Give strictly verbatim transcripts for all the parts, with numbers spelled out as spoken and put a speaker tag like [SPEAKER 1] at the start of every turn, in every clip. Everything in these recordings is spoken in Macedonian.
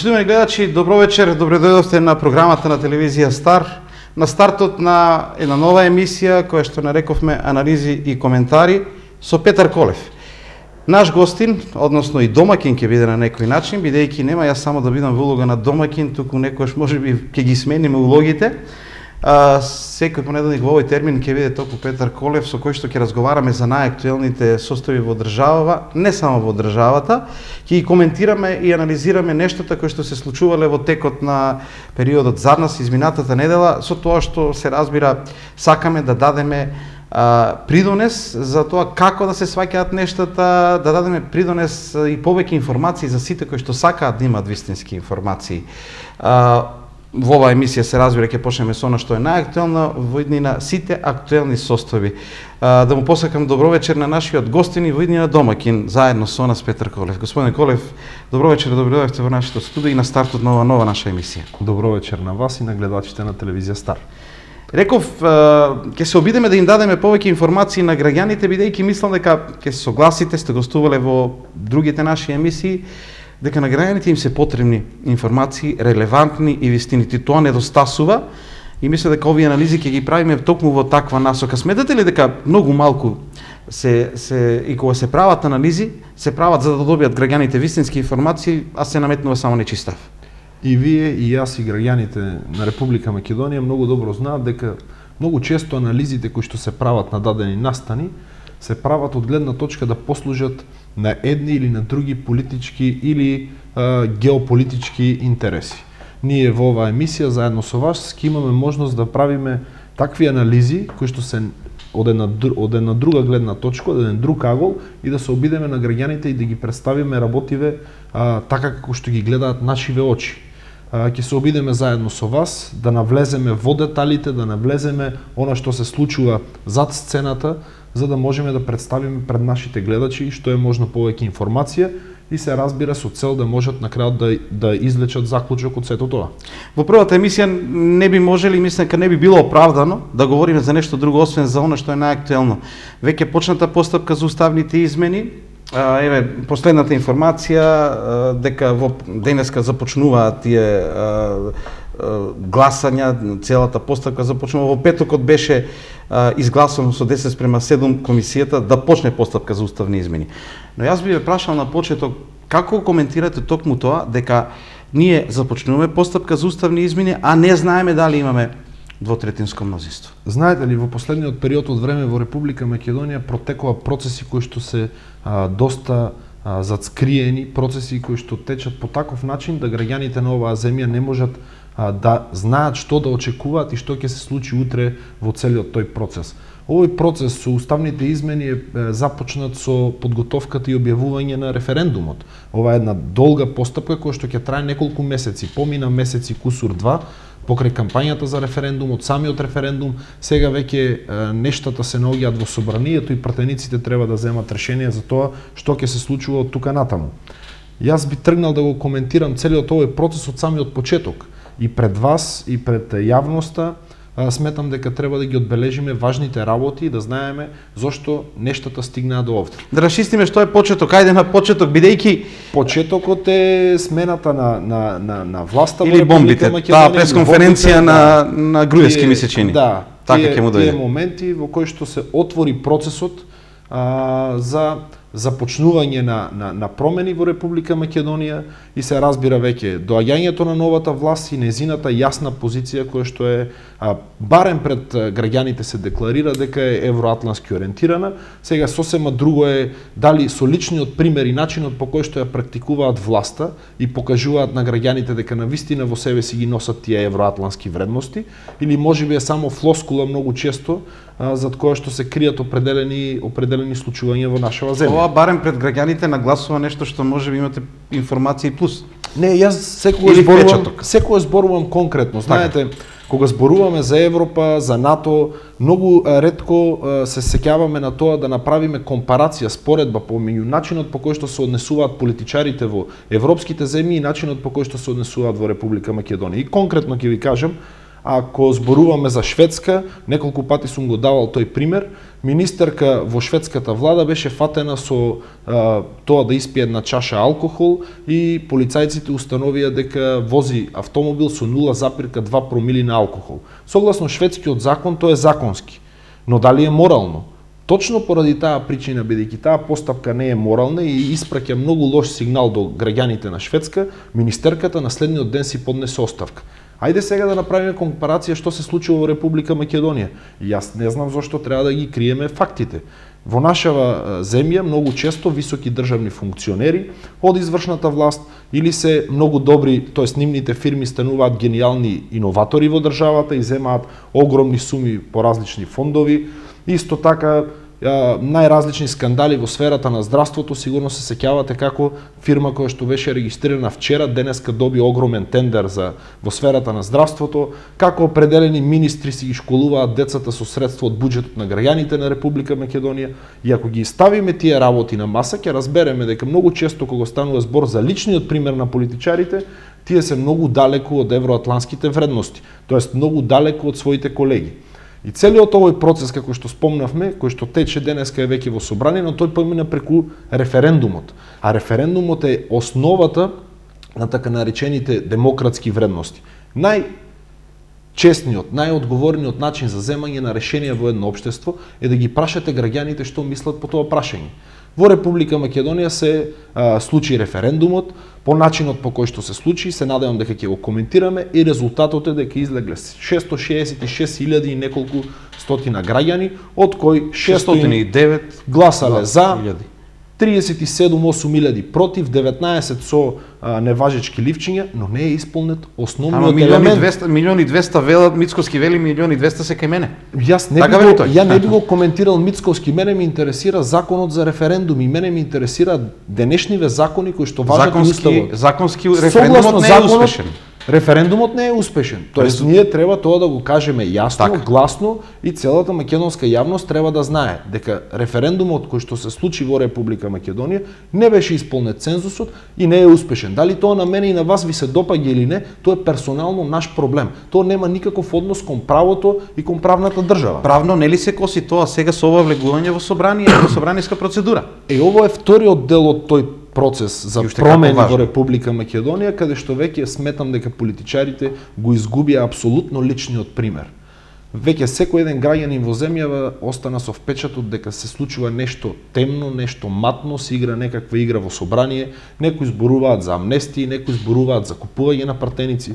[SPEAKER 1] Почитувани гледачи, добро вечер, добре дојдовте на програмата на телевизија Стар, на стартот на една нова емисија која што нарековме анализи и коментари со Петар Колев. Наш гостин, односно и домакин ќе биде на некој начин, бидејќи нема јас само да бидам во улога на домакин, туку некојаш можеби ќе ги смениме улогите. А, секој понеделник во овој термин ќе биде токму Петар Колев, со кој што ќе разговараме за најактуелните состојби во државава, не само во државата, ќе ги коментираме и анализираме нештата кои што се случувале во текот на периодот зад нас, изминатата недела, со тоа што се разбира сакаме да дадеме а, придонес за тоа како да се сваќаат нештата, да дадеме придонес и повеќе информации за сите кои што сакаат да имаат вистински информации. А, Во оваа емисија се разбира ќе почнеме со она што е најактуелно во иднина сите актуелни состојби. А, да му посакам добро вечер на нашиот гостин и во иднина домакин заедно со нас Петар Колев. Господин Колев, добро вечер, добро дојдовте во нашето студио и на стартот на ова нова наша емисија.
[SPEAKER 2] Добро вечер на вас и на гледачите на телевизија Стар.
[SPEAKER 1] Реков, ќе се обидеме да им дадеме повеќе информации на граѓаните, бидејќи мислам дека ќе се согласите, сте гостувале во другите наши емисии, дека на граѓаните им се потребни информации, релевантни и вистинити. Тоа недостасува и мисля дека овие анализи ќе ги правиме токму во таква насока. Сметате ли дека многу малку се, се и кога се прават анализи, се прават за да добијат граѓаните вистински информации, а се наметнува само нечистав?
[SPEAKER 2] И вие, и јас, и граѓаните на Република Македонија многу добро знаат дека многу често анализите кои што се прават на дадени настани се прават од гледна точка да послужат на едни или на други политички или а, геополитички интереси. Ние во оваа емисија заедно со вас ќе имаме можност да правиме такви анализи кои што се од една, од една друга гледна точка, од еден друг агол и да се обидеме на граѓаните и да ги представиме работиве а, така како што ги гледаат нашиве очи. Ќе се обидеме заедно со вас да навлеземе во деталите, да навлеземе она што се случува зад сцената, за да можеме да представиме пред нашите гледачи што е можно повеќе информација и се разбира со цел да можат на крајот да, да извлечат заклучок од сето тоа.
[SPEAKER 1] Во првата емисија не би можели, мислам дека не би било оправдано да говориме за нешто друго освен за она што е најактуелно. Веќе почната постапка за уставните измени. Еве последната информација дека во денеска започнуваат тие гласања, целата постапка започнува. Во петокот беше изгласано со десет спрема седум комисијата да почне постапка за уставни измени. Но јас би ве прашал на почеток како коментирате токму тоа дека ние започнуваме постапка за уставни измени, а не знаеме дали имаме двотретинско мнозинство.
[SPEAKER 2] Знаете ли, во последниот период од време во Република Македонија протекува процеси кои што се а, доста а, зацкриени, процеси кои што течат по таков начин да граѓаните на оваа земја не можат а, да знаат што да очекуваат и што ќе се случи утре во целиот тој процес. Овој процес со уставните измени е започнат со подготовката и објавување на референдумот. Ова е една долга постапка која што ќе трае неколку месеци, помина месеци кусур два, покрај кампањата за референдумот, самиот референдум, сега веќе нештата се наоѓаат во собранието и пратениците треба да земат решение за тоа што ќе се случува од тука натаму. Јас би тргнал да го коментирам целиот овој процес од самиот почеток и пред вас и пред јавноста. Сметам дека треба да ги одбележиме важните работи и да знаеме зошто нештата стигнаа до овде.
[SPEAKER 1] Да расчистиме што е почеток, ајде на почеток, бидејќи
[SPEAKER 2] почетокот е смената на на на на власта
[SPEAKER 1] или бомбите, таа пресконференција на на Груевски ми се чини.
[SPEAKER 2] Да,
[SPEAKER 1] така ќе му дојде.
[SPEAKER 2] Тие моменти во кои што се отвори процесот а, за започнување на, на, на промени во Република Македонија и се разбира веќе доаѓањето на новата власт и незината јасна позиција која што е а, барем пред граѓаните се декларира дека е евроатлански ориентирана. Сега сосема друго е дали со личниот пример и начинот по кој што ја практикуваат власта и покажуваат на граѓаните дека навистина во себе си ги носат тие евроатлански вредности или можеби е само флоскула многу често а, зад која што се кријат определени определени случувања во нашава земја.
[SPEAKER 1] Ова барем пред граѓаните нагласува нешто што можеби имате информации плюс.
[SPEAKER 2] Не, јас секогаш зборувам, секогаш зборувам конкретно. Знаете, кога зборуваме за Европа, за НАТО, многу ретко се сеќаваме на тоа да направиме компарација, споредба помеѓу начинот по кој што се однесуваат политичарите во европските земји и начинот по кој што се однесуваат во Република Македонија. И конкретно ќе ви кажам, ако зборуваме за Шведска, неколку пати сум го давал тој пример, министерка во шведската влада беше фатена со а, тоа да испие една чаша алкохол и полицајците установија дека вози автомобил со нула запирка два промили на алкохол. Согласно шведскиот закон тоа е законски, но дали е морално? Точно поради таа причина, бидејќи таа постапка не е морална и испраќа многу лош сигнал до граѓаните на Шведска, министерката на следниот ден си поднесе оставка. Ајде сега да направиме компарација што се случило во Република Македонија. И јас не знам зошто треба да ги криеме фактите. Во нашава земја многу често високи државни функционери од извршната власт или се многу добри, тоест нивните фирми стануваат гениални иноватори во државата и земаат огромни суми по различни фондови. Исто така, најразлични скандали во сферата на здравството, сигурно се сеќавате како фирма која што беше регистрирана вчера, денеска доби огромен тендер за во сферата на здравството, како определени министри си ги школуваат децата со средства од буџетот на граѓаните на Република Македонија. И ако ги ставиме тие работи на маса, ќе разбереме дека многу често кога станува збор за личниот пример на политичарите, тие се многу далеку од евроатлантските вредности, тоест многу далеку од своите колеги. И целиот овој процес, како што спомнавме, кој што тече денеска е веќе во собрание, но тој помина преку референдумот. А референдумот е основата на така наречените демократски вредности. Најчестниот, најодговорниот начин за земање на решенија во едно општество е да ги прашате граѓаните што мислат по тоа прашање. Во Република Македонија се а, случи референдумот, по начинот по кој што се случи, се надевам дека ќе го коментираме и резултатот е дека излегле шестоста шеесет и шест илјади и неколку стотина граѓани, од кои шестстотини и девет гласале за, триесет и седум целу осум илјади против, деветнаесет со а, неважечки ливчиња, но не е исполнет основниот елемент.
[SPEAKER 1] Милион и двеста велат, Мицковски вели милион и двеста се кај мене.
[SPEAKER 2] Јас не така би го, ја не би го коментирал Мицковски, мене ми интересира законот за референдум и мене ми интересира денешниве закони кои што важат и уставот.
[SPEAKER 1] Законски референдумот не е успешен.
[SPEAKER 2] Референдумот не е успешен. Тоест Резу... ние треба тоа да го кажеме јасно, так. гласно и целата македонска јавност треба да знае дека референдумот кој што се случи во Република Македонија не беше исполнет цензусот и не е успешен. Дали тоа на мене и на вас ви се допаѓа или не, тоа е персонално наш проблем. Тоа нема никаков однос кон правото и кон правната држава.
[SPEAKER 1] Правно нели се коси тоа сега со ова влегување во собрание, во собраниска процедура?
[SPEAKER 2] Е, ово е вториот дел од тој процес за промени во Република Македонија, каде што веќе сметам дека политичарите го изгубија апсолутно личниот пример. Веќе секој еден граѓанин во земјава остана со впечатот дека се случува нешто темно, нешто матно, се игра некаква игра во собрание, некои зборуваат за амнестии, некои зборуваат за купување на пратеници.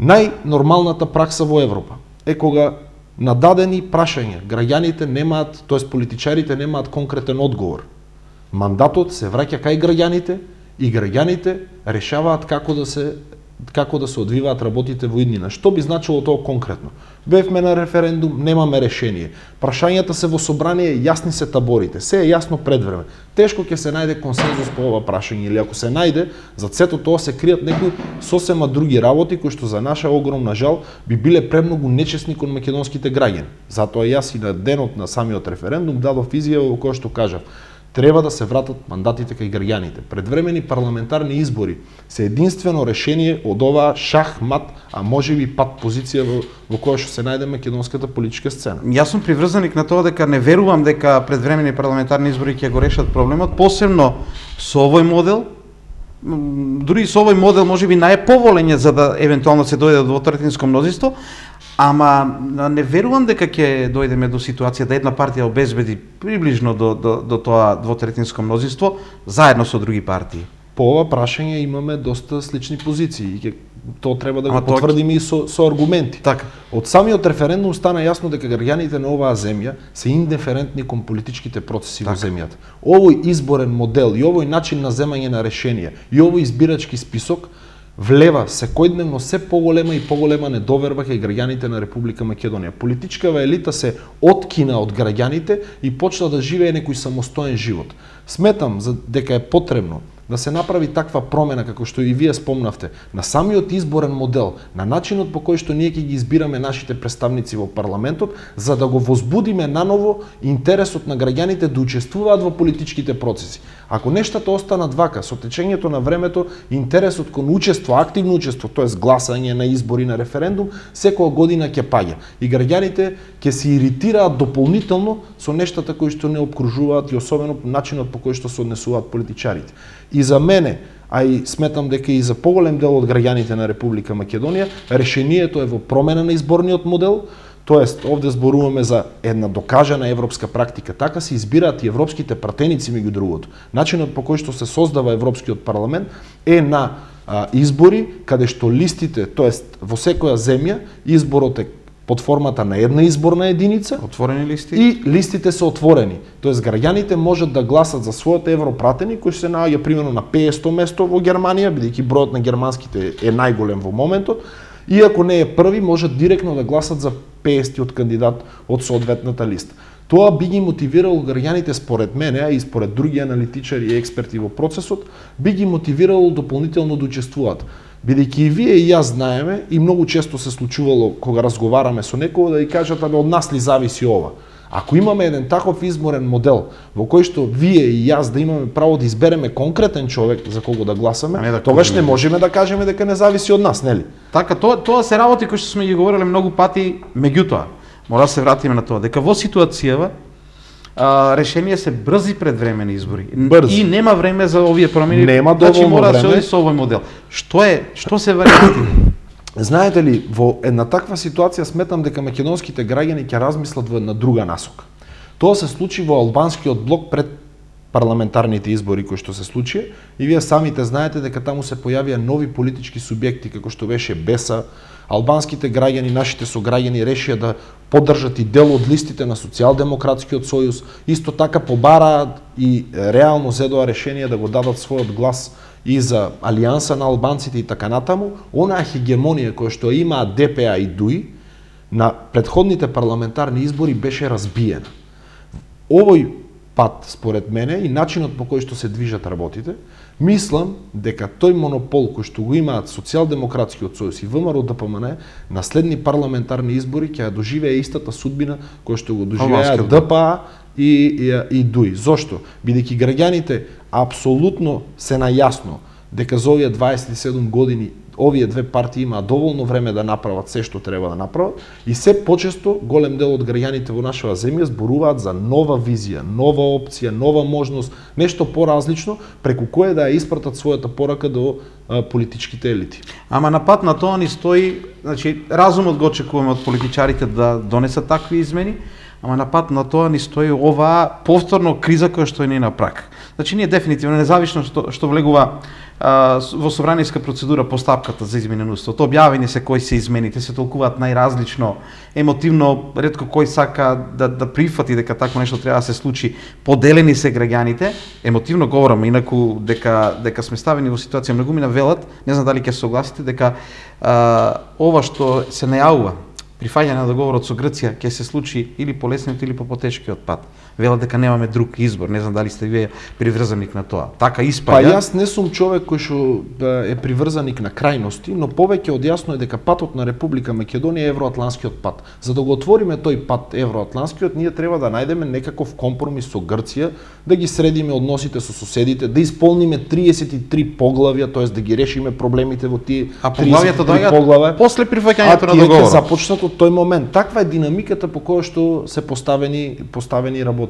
[SPEAKER 2] Најнормалната пракса во Европа е кога на дадени прашања граѓаните немаат, тоест политичарите немаат конкретен одговор. Мандатот се враќа кај граѓаните и граѓаните решаваат како да се како да се одвиваат работите во иднина. Што би значило тоа конкретно? Бевме на референдум, немаме решение. Прашањата се во собрание, јасни се таборите, се е јасно пред време. Тешко ќе се најде консензус по ова прашање или ако се најде, за сето тоа се кријат некои сосема други работи кои што за наша огромна жал би биле премногу нечесни кон македонските граѓани. Затоа јас и на денот на самиот референдум дадов изјава во која што кажав: треба да се вратат мандатите кај граѓаните. Предвремени парламентарни избори се единствено решение од оваа шах-мат, а можеби пат позиција во, во која што се најде македонската политичка сцена.
[SPEAKER 1] Јас сум приврзаник на тоа дека не верувам дека предвремени парламентарни избори ќе го решат проблемот, посебно со овој модел. Дури со овој модел можеби најповолен за да евентуално се дојде до двотретинско мнозинство, ама не верувам дека ќе дојдеме до ситуација да една партија обезбеди приближно до, до, до тоа двотретинско мнозинство заедно со други партии.
[SPEAKER 2] По ова прашање имаме доста слични позиции и ќе тоа треба да го ама потврдиме и со, со аргументи.
[SPEAKER 1] Така.
[SPEAKER 2] Од самиот референдум стана јасно дека граѓаните на оваа земја се индиферентни кон политичките процеси така во земјата. Овој изборен модел и овој начин на земање на решенија и овој избирачки список влева секојдневно се поголема и поголема недоверба кај граѓаните на Република Македонија. Политичкава елита се откина од граѓаните и почна да живее некој самостоен живот. Сметам за дека е потребно да се направи таква промена, како што и вие спомнавте, на самиот изборен модел, на начинот по кој што ние ќе ги избираме нашите представници во парламентот, за да го возбудиме наново интересот на граѓаните да учествуваат во политичките процеси. Ако нештата останат вака, со течењето на времето, интересот кон учество, активно учество, тоест гласање на избори, на референдум, секоја година ќе паѓа. И граѓаните ќе се иритираат дополнително со нештата кои што не обкружуваат и особено начинот по кој што се однесуваат политичарите. И за мене, а и сметам дека и за поголем дел од граѓаните на Република Македонија, решението е во промена на изборниот модел. Тоест, овде зборуваме за една докажана европска практика. Така се избираат и европските пратеници меѓу другото. Начинот по кој што се создава Европскиот парламент е на а, избори, каде што листите, тоест во секоја земја, изборот е под формата на една изборна единица,
[SPEAKER 1] отворени листи,
[SPEAKER 2] и листите се отворени. Тоест, граѓаните можат да гласат за својот европратени, кој се наоѓа примерно на петсто место во Германија, бидејќи бројот на германските е најголем во моментот. И ако не е први, можат директно да гласат за петдесеттиот кандидат од соодветната листа. Тоа би ги мотивирало граѓаните, според мене, а и според други аналитичари и експерти во процесот, би ги мотивирало дополнително да учествуваат. Бидејќи и вие и јас знаеме, и многу често се случувало кога разговараме со некој да ја кажат, абе од нас ли зависи ова? Ако имаме еден таков изборен модел во кој што вие и јас да имаме право да избереме конкретен човек за кого да гласаме,
[SPEAKER 1] не да
[SPEAKER 2] тогаш не можеме да кажеме дека не зависи од нас, нели?
[SPEAKER 1] Така, тоа, тоа се работи кои што сме ги говореле многу пати, меѓутоа, мора да се вратиме на тоа, дека во ситуацијава а, решение се брзи предвремени избори.
[SPEAKER 2] Брзи.
[SPEAKER 1] И нема време за овие промени.
[SPEAKER 2] Нема
[SPEAKER 1] значи,
[SPEAKER 2] доволно
[SPEAKER 1] мора да се
[SPEAKER 2] време.
[SPEAKER 1] оди со овој модел. Што е, што се варианти?
[SPEAKER 2] Знаете ли, во една таква ситуација сметам дека македонските граѓани ќе размислат во една друга насока. Тоа се случи во албанскиот блок пред парламентарните избори кои што се случи, и вие самите знаете дека таму се појавија нови политички субјекти како што беше Беса. Албанските граѓани, нашите сограѓани решија да поддржат и дел од листите на Социјалдемократскиот сојуз, исто така побараат и реално зедоа решение да го дадат својот глас и за алијанса на албанците и така натаму. Онаа хегемонија која што имаат Д П А и Д У И на претходните парламентарни избори беше разбиена. Овој пат, според мене, и начинот по кој што се движат работите, мислам дека тој монопол кој што го имаат Социјалдемократскиот сојуз и В М Р Д П М Н на следни парламентарни избори ќе ја доживее истата судбина која што го доживеа Д П А и, и, и Д У И. Зошто? Бидејќи граѓаните апсолутно се најасно дека за овие дваесет и седум години овие две партии имаат доволно време да направат се што треба да направат, и се почесто голем дел од граѓаните во нашава земја зборуваат за нова визија, нова опција, нова можност, нешто поразлично преку кое да ја испратат својата порака до а, политичките елити.
[SPEAKER 1] Ама на пат на тоа ни стои, значи разумот го очекуваме од политичарите да донесат такви измени, ама на пат на тоа ни стои оваа повторно криза која што е ни на прак. Значи ние дефинитивно, независно што, што влегува а, во собраниска процедура постапката за измена на уставот, објавени се кои се измените, се толкуваат најразлично, емотивно, ретко кој сака да, да прифати дека такво нешто треба да се случи, поделени се граѓаните, емотивно говорам, инаку дека, дека сме ставени во ситуација, многу ми навелат, не знам дали ќе се согласите, дека а, ова што се најавува, прифаќање на договорот со Грција ќе се случи или по лесниот или по потешкиот пат. Велат дека немаме друг избор, не знам дали сте вие приврзаник на тоа. Така испаѓа.
[SPEAKER 2] Па јас не сум човек кој што е приврзаник на крајности, но повеќе од јасно е дека патот на Република Македонија е евроатланскиот пат. За да го отвориме тој пат евроатланскиот, ние треба да најдеме некаков компромис со Грција, да ги средиме односите со соседите, да исполниме триесет и три поглавја, тоест да ги решиме проблемите во тие
[SPEAKER 1] а поглавјата доаѓаат после прифаќањето на договорот.
[SPEAKER 2] А започнат од тој момент. Таква е динамиката по која што се поставени поставени работи.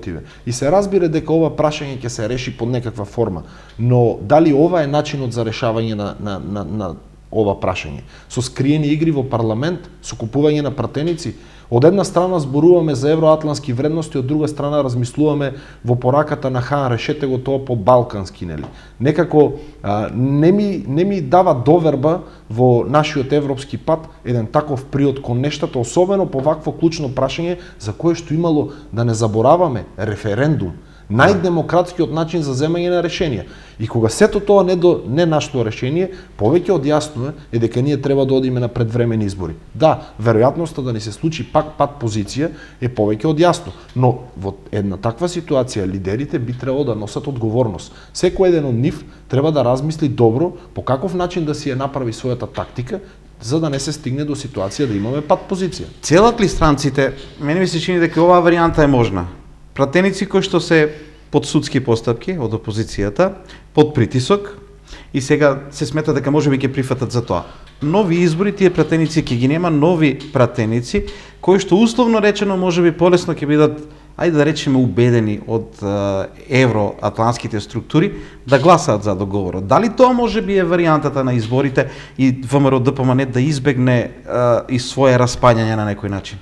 [SPEAKER 2] И се разбира дека ова прашање ќе се реши под некаква форма, но дали ова е начинот за решавање на, на, на, на ова прашање? Со скриени игри во парламент, со купување на пратеници? Од една страна зборуваме за евроатлански вредности, од друга страна размислуваме во пораката на Хан, решете го тоа по балкански, нели? Некако а, не ми не ми дава доверба во нашиот европски пат еден таков приод кон нештата, особено по вакво клучно прашање за кое што имало, да не забораваме, референдум. Најдемократскиот начин за земање на решенија. И кога сето тоа не до не нашло решение, повеќе од јасно е, е дека ние треба да одиме на предвремени избори. Да, веројатноста да ни се случи пак пат позиција е повеќе од јасно, но во една таква ситуација лидерите би требало да носат одговорност. Секој еден од нив треба да размисли добро по каков начин да си ја направи својата тактика, за да не се стигне до ситуација да имаме пат позиција.
[SPEAKER 1] Целат ли странците, мене ми се чини дека оваа варијанта е можна. Пратеници кои што се под судски постапки од опозицијата, под притисок, и сега се смета дека можеби ќе прифатат за тоа. Нови избори, тие пратеници ќе ги нема, нови пратеници, кои што условно речено можеби полесно ќе бидат, ајде да речеме, убедени од евроатлантските структури да гласаат за договорот. Дали тоа можеби е варијантата на изборите и ВМРО-ДПМН да избегне а, и свое распаѓање на некој начин?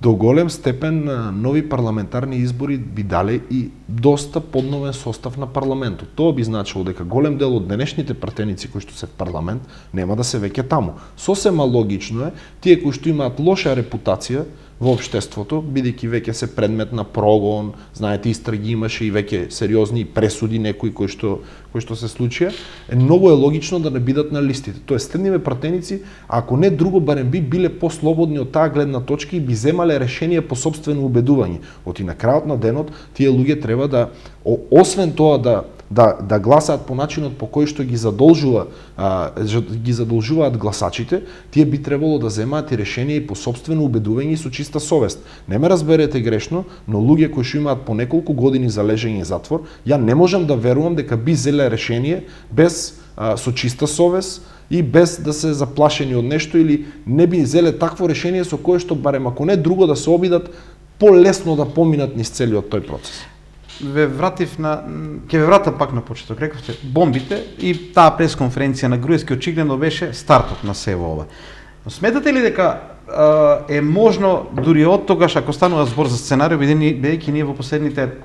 [SPEAKER 2] До голем степен нови парламентарни избори би дале и доста подновен состав на парламентот. Тоа би значило дека голем дел од денешните пратеници кои што се в парламент нема да се веќе таму. Сосема логично е тие кои што имаат лоша репутација во општеството, бидејќи веќе се предмет на прогон, знаете, истраги имаше и веќе сериозни пресуди некои кои што кои што се случија, е многу е логично да не бидат на листите. Тоест, следниве пратеници, ако не друго, барем би биле послободни од таа гледна точка и би земале решение по собствено убедување. Оти на крајот на денот тие луѓе треба да, освен тоа да да да гласаат по начинот по кој што ги задолжува а, ги задолжуваат гласачите, тие би требало да земаат и решение и по собствено убедување и со чиста совест. Не ме разберете грешно, но луѓе кои што имаат по неколку години за лежење затвор, ја не можам да верувам дека би зеле решение без а, со чиста совест и без да се заплашени од нешто, или не би зеле такво решение со кое што барем ако не друго да се обидат полесно да поминат низ целиот тој процес.
[SPEAKER 1] Ве вратив на, ќе ве вратам пак на почеток, рековте бомбите и таа пресконференција на Груевски очигледно беше стартот на сево ова. Но сметате ли дека е можно дури од тогаш, ако станува збор за сценарио, бидејќи ние во последните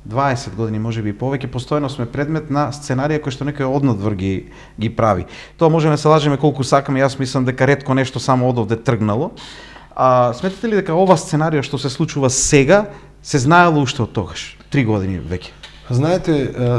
[SPEAKER 1] дваесет години, можеби и повеќе, постојано сме предмет на сценарија кои што некој однадвор ги ги прави. Тоа можеме да се лажеме колку сакаме, јас мислам дека ретко нешто само одовде тргнало. А сметате ли дека ова сценарио што се случува сега се знаело уште од тогаш, три години веќе?
[SPEAKER 2] Знаете,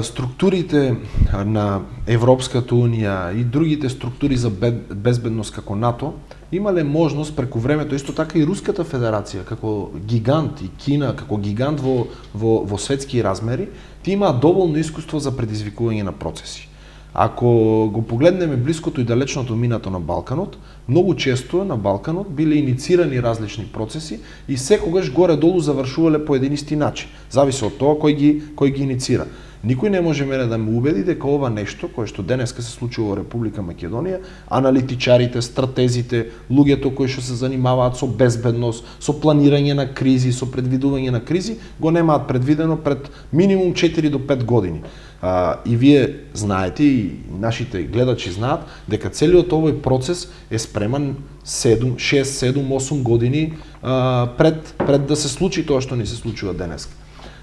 [SPEAKER 2] структурите на Европската унија и другите структури за безбедност како НАТО имале можност преку времето, исто така и Руската федерација како гигант и Кина како гигант во во во светски размери, ти имаат доволно искуство за предизвикување на процеси. Ако го погледнеме блиското и далечното минато на Балканот, многу често на Балканот биле иницирани различни процеси и секогаш горе-долу завршувале по еден исти начин. Зависи од тоа кој ги кој ги иницира. Никој не може мене да ме убеди дека ова нешто кое што денеска се случува во Република Македонија, аналитичарите, стратезите, луѓето кои што се занимаваат со безбедност, со планирање на кризи, со предвидување на кризи, го немаат предвидено пред минимум четири до пет години. А, и вие знаете, и нашите гледачи знаат, дека целиот овој процес е спреман седум, шест, седум, осум години а, пред, пред да се случи тоа што ни се случува денеска.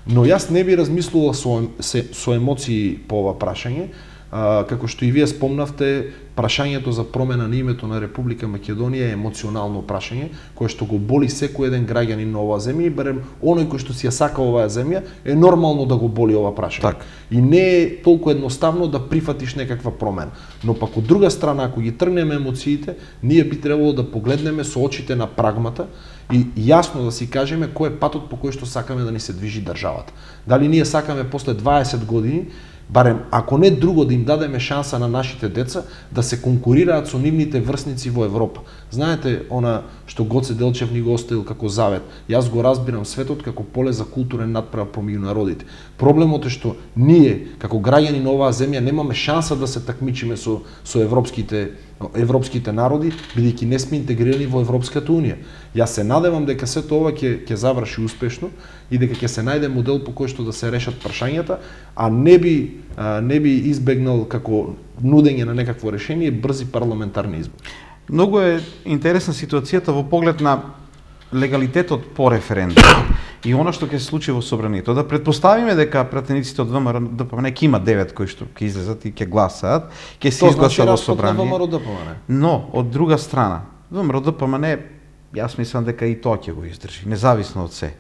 [SPEAKER 2] Но јас не би размислувал со, со емоции по ова прашање, а, како што и вие спомнавте, прашањето за промена на името на Република Македонија е емоционално прашање, кое што го боли секој еден граѓанин на оваа земја, и барем оној кој што си ја сака оваа земја, е нормално да го боли ова прашање.
[SPEAKER 1] Так.
[SPEAKER 2] И не е толку едноставно да прифатиш некаква промена. Но пак од друга страна, ако ги тргнеме емоциите, ние би требало да погледнеме со очите на прагмата и јасно да си кажеме кој е патот по кој што сакаме да ни се движи државата. Дали ние сакаме после дваесет години, барем ако не друго, да им дадеме шанса на нашите деца да се конкурираат со нивните врсници во Европа. Знаете, она што Гоце Делчев ни го оставил како завет, јас го разбирам светот како поле за културен надпревар помеѓу народите. Проблемот е што ние, како граѓани на оваа земја, немаме шанса да се такмичиме со, со европските, европските народи, бидејќи не сме интегрирани во Европската унија. Јас се надевам дека сето ова ќе ќе заврши успешно и дека ќе се најде модел по кој што да се решат прашањата, а не би а, не би избегнал како нудење на некакво решение брзи парламентарни избори.
[SPEAKER 1] Многу е интересна ситуацијата во поглед на легалитетот по референдум и она што ќе се случи во собранието. Да предпоставиме дека пратениците од ВМРО-ДПМН ќе има девет кои што ќе излезат и ќе гласаат, ќе се изгласа во собрание. Но од друга страна, ВМРО-ДПМН, јас мислам дека и тоа ќе го издржи, независно од се.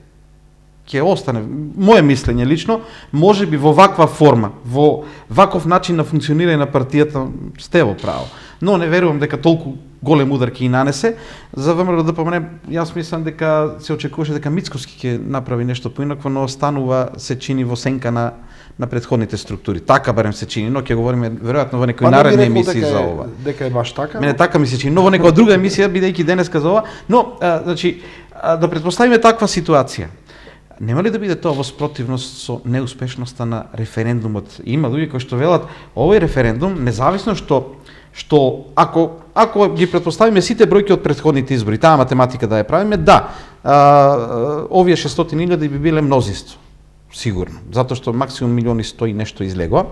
[SPEAKER 1] Ќе остане, моје мислење лично, може би во ваква форма, во ваков начин на функционирање на партијата, сте во право. Но не верувам дека толку голем удар ќе и нанесе. За ВМРО-ДПМН, јас мислам дека се очекуваше дека Мицковски ќе направи нешто поинакво, но останува, се чини во сенка на на претходните структури. Така барем се чини, но ќе говориме веројатно во некои наредни емисии за ова.
[SPEAKER 2] Дека е баш така.
[SPEAKER 1] Мене така ми се чини, но во некоја друга емисија, бидејќи денеска за ова, но а, значи а, да претпоставиме таква ситуација. Нема ли да биде тоа во спротивност со неуспешноста на референдумот? Има луѓе кои што велат овој референдум, независно што што ако ако ги претпоставиме сите бројки од претходните избори, таа математика да ја правиме, да, а, овие шестстотини илјади би биле мнозинство. Сигурно, затоа што максимум милиони сто и нешто излегоа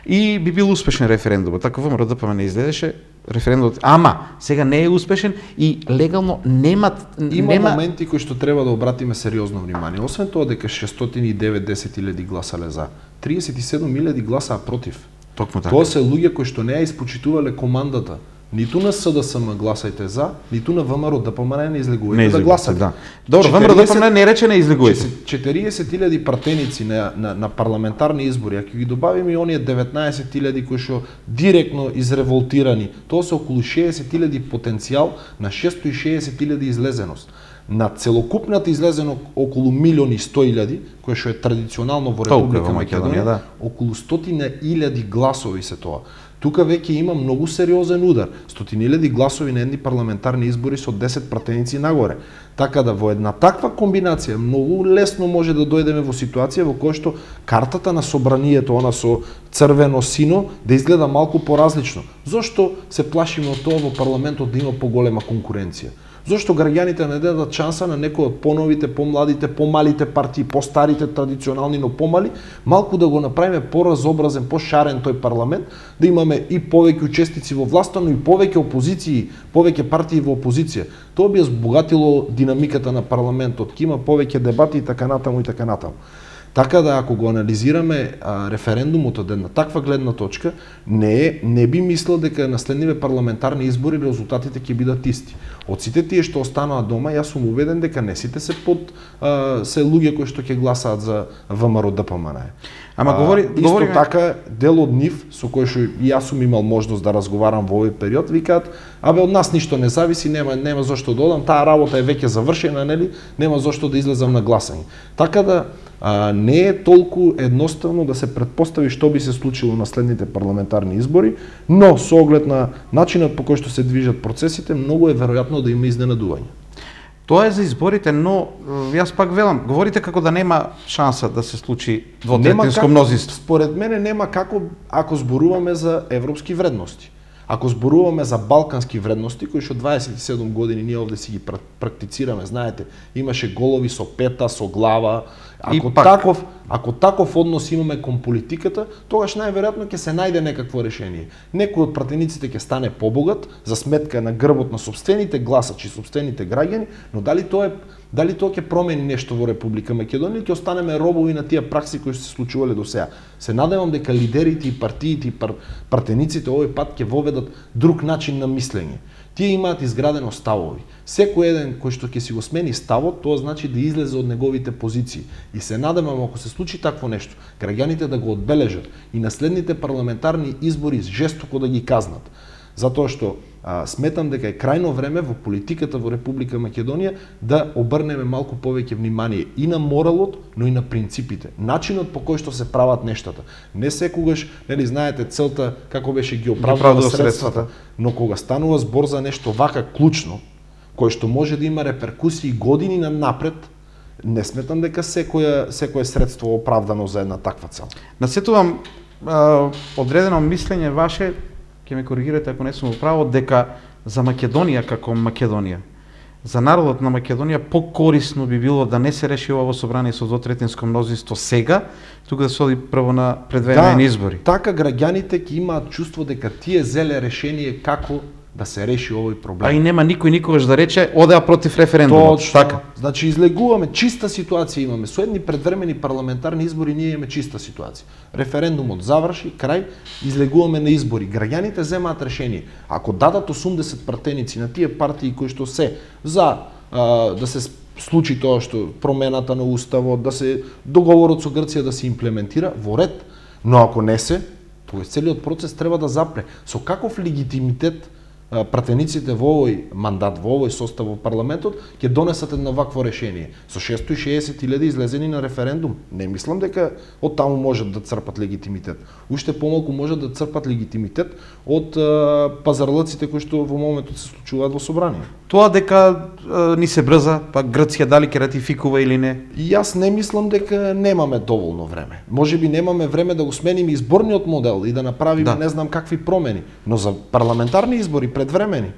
[SPEAKER 1] и би бил успешен референдумот. Така ВМРО Д П М не излезеше референдумот, ама сега не е успешен и легално нема
[SPEAKER 2] има
[SPEAKER 1] нема...
[SPEAKER 2] моменти кои што треба да обратиме сериозно внимание. Освен тоа дека шестстотини и деветдесет илјади гласале за, триесет и седум илјади гласаа против.
[SPEAKER 1] Токму така.
[SPEAKER 2] Тоа се луѓе кои што не ја испочитувале командата. Ниту на С Д С М гласајте за, ниту на ВМРО Д П М не излегувајте да гласате.
[SPEAKER 1] Да. Добро, ВМРО Д П М не рече не излегувајте.
[SPEAKER 2] четириесет илјади пратеници на, на, на парламентарни избори, ако ги добавиме и оние деветнаесет илјади кои што директно изреволтирани, тоа се околу шеесет илјади потенцијал на шестоста и шеесет илјади излезеност. На целокупната излезено околу милиони и сто илјади, кое што е традиционално во Република Македонија, да. Околу стотина илјади гласови се тоа. Тука веќе има многу сериозен удар. Стотини илјади гласови на едни парламентарни избори со десет пратеници нагоре. Така да во една таква комбинација многу лесно може да дојдеме во ситуација во која што картата на собранието, она со црвено сино, да изгледа малку поразлично. Зошто се плашиме од тоа во парламентот да има поголема конкуренција? Зошто граѓаните не дадат шанса на некои од поновите, помладите, помалите партии, постарите, традиционални, но помали, малку да го направиме поразобразен, пошарен тој парламент, да имаме и повеќе учесници во власта, но и повеќе опозиции, повеќе партии во опозиција. Тоа би збогатило динамиката на парламентот, ќе има повеќе дебати и така натаму и така натаму. Така да ако го анализираме а, референдумот од една таква гледна точка, не е, не би мислел дека на следниве парламентарни избори резултатите ќе бидат исти. Од сите тие што останаа дома, јас сум убеден дека не сите се под а, се луѓе кои што ќе гласаат за ВМРО Д П М Н.
[SPEAKER 1] Ама говори,
[SPEAKER 2] а, исто
[SPEAKER 1] говориме...
[SPEAKER 2] така дел од нив со кој што и јас сум имал можност да разговарам во овој период, викаат: "Абе, од нас ништо не зависи, нема нема зошто да одам, таа работа е веќе завршена, нели? Нема зошто да излезам на гласање." Така да а, не е толку едноставно да се претпостави што би се случило на следните парламентарни избори, но со оглед на начинот по кој што се движат процесите, многу е веројатно да има изненадување.
[SPEAKER 1] Тоа е за изборите, но јас пак велам, говорите како да нема шанса да се случи двотретинско мнозинство.
[SPEAKER 2] Според мене нема како ако зборуваме за европски вредности. Ако зборуваме за балкански вредности, кои што дваесет и седум години ние овде си ги практицираме, знаете, имаше голови со пета, со глава. Ако таков, ако таков однос имаме кон политиката, тогаш најверојатно ќе се најде некакво решение. Некој од пратениците ќе стане побогат за сметка на грбот на сопствените гласачи, сопствените граѓани, но дали тоа е дали тоа ќе промени нешто во Република Македонија или ќе останеме робови на тие пракси кои се случувале до сега. Се надевам дека лидерите и партиите и пар, пратениците овој пат ќе воведат друг начин на мислење. Тие имаат изградено ставови. Секој еден кој што ќе си го смени ставот, тоа значи да излезе од неговите позиции. И се надевам, ако се случи такво нешто, граѓаните да го одбележат и на следните парламентарни избори жестоко да ги казнат. Затоа што а, сметам дека е крајно време во политиката во Република Македонија да обрнеме малку повеќе внимание и на моралот, но и на принципите. Начинот по кој што се прават нештата. Не секогаш, нели знаете, целта како беше ги оправдува средствата, средствата, но кога станува збор за нешто вака клучно, кој што може да има реперкусии години напред, не сметам дека секоја секое средство оправдано за една таква цел.
[SPEAKER 1] Насетувам а, одредено мислење ваше, ќе ме коригирате ако не сум во право, дека за Македонија како Македонија, за народот на Македонија покорисно би било да не се реши ово собрание со двотретинско мнозинство сега, туку да се оди прво на предвременни
[SPEAKER 2] да,
[SPEAKER 1] избори.
[SPEAKER 2] Така граѓаните ќе имаат чувство дека тие зеле решение како да се реши овој проблем.
[SPEAKER 1] А и нема никој никогаш да рече одеа против референдумот.
[SPEAKER 2] Точно. Така. Значи излегуваме, чиста ситуација имаме. Со едни предвремени парламентарни избори ние имаме чиста ситуација. Референдумот заврши, крај, излегуваме на избори. Граѓаните земаат решение. Ако дадат осумдесет пратеници на тие партии кои што се за а, да се случи тоа што промената на уставот, да се договорот со Грција да се имплементира во ред, но ако не се, тој целиот процес треба да запре. Со каков легитимитет пратениците во овој мандат, во овој состав во парламентот, ќе донесат едно вакво решение. Со шестстотини и шеесет илјади излезени на референдум, не мислам дека од таму можат да црпат легитимитет. Уште помалку можат да црпат легитимитет од а, пазарлъците кои што во моментот се случуваат во собрание.
[SPEAKER 1] Тоа дека а, ни се брза, па Грција дали ќе ратификува или не?
[SPEAKER 2] И јас не мислам дека немаме доволно време. Можеби немаме време да го смениме изборниот модел и да направиме
[SPEAKER 1] да.
[SPEAKER 2] не знам какви промени, но за парламентарни избори предвремени.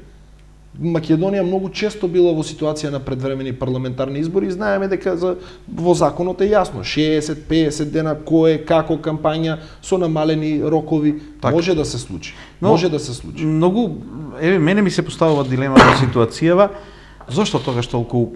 [SPEAKER 2] Македонија многу често била во ситуација на предвремени парламентарни избори и знаеме дека за, во законот е јасно, шеесет пеесет дена кој како кампања со намалени рокови так. Може да се случи. Но, може да се случи.
[SPEAKER 1] Многу еве мене ми се поставува дилема во ситуацијава зошто тогаш толку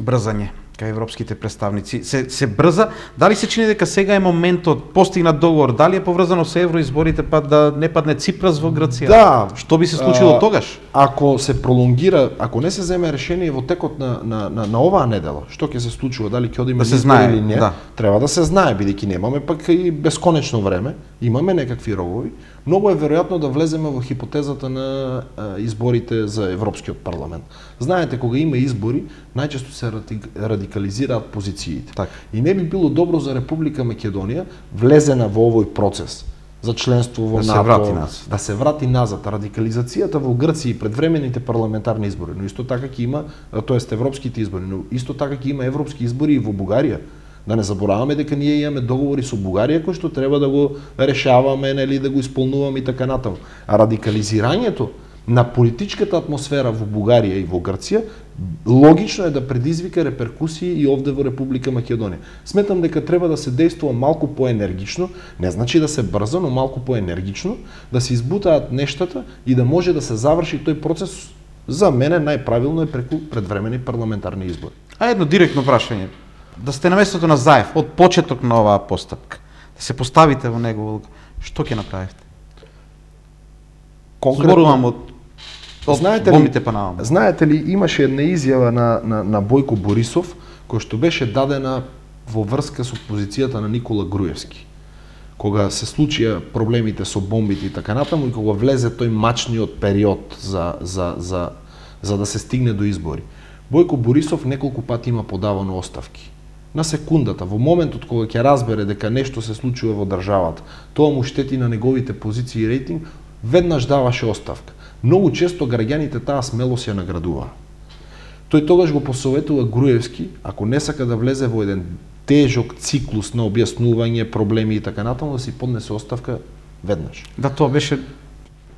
[SPEAKER 1] брзање кај европските представници се се брза, дали се чини дека сега е моментот постигнат договор, дали е поврзано со евроизборите па да не падне Ципрас во Грција?
[SPEAKER 2] Да,
[SPEAKER 1] што би се случило а, тогаш?
[SPEAKER 2] Ако се пролонгира, ако не се земе решение во текот на на на, на оваа недела, што ќе се случува, дали ќе одиме
[SPEAKER 1] да се знае
[SPEAKER 2] или не,
[SPEAKER 1] да.
[SPEAKER 2] Треба да се знае бидејќи немаме пак и бесконечно време, имаме некакви рогови. Многу е веројатно да влеземе во хипотезата на а, изборите за Европскиот парламент. Знаете, кога има избори, најчесто се радикализираат позициите.
[SPEAKER 1] Так.
[SPEAKER 2] И не би било добро за Република Македонија влезена во овој процес за членство во
[SPEAKER 1] да
[SPEAKER 2] НАТО,
[SPEAKER 1] се врати назад.
[SPEAKER 2] да се врати назад. Радикализацијата во Грција и предвремените парламентарни избори, но исто така ќе има, тоест европските избори, но исто така ќе има европски избори и во Бугарија. Да не забораваме дека ние имаме договори со Бугарија кои што треба да го решаваме, нели, да го исполнуваме и така натаму. А радикализирањето на политичката атмосфера во Бугарија и во Грција логично е да предизвика реперкусии и овде во Република Македонија. Сметам дека треба да се действува малку поенергично, не значи да се брза, но малку поенергично, да се избутаат нештата и да може да се заврши тој процес. За мене најправилно е преку предвремени парламентарни избори.
[SPEAKER 1] А едно директно прашање. Да сте на местото на Заев од почеток на оваа постапка, да се поставите во него, што ќе направите? Конкретно од
[SPEAKER 2] знаете ли, знаете ли, имаше една изјава на, на, на Бојко Борисов, која што беше дадена во врска со позицијата на Никола Груевски. Кога се случија проблемите со бомбите и така натаму и кога влезе тој мачниот период за, за, за, за да се стигне до избори. Бојко Борисов неколку пати има подавано оставки. На секундата, во моментот кога ќе разбере дека нешто се случува во државата, тоа му штети на неговите позиции и рейтинг, веднаш даваше оставка. Многу често граѓаните таа смелост ја наградуваа. Тој тогаш го посоветува Груевски, ако не сака да влезе во еден тежок циклус на објаснување, проблеми и така натаму, да си поднесе оставка веднаш.
[SPEAKER 1] Да, тоа беше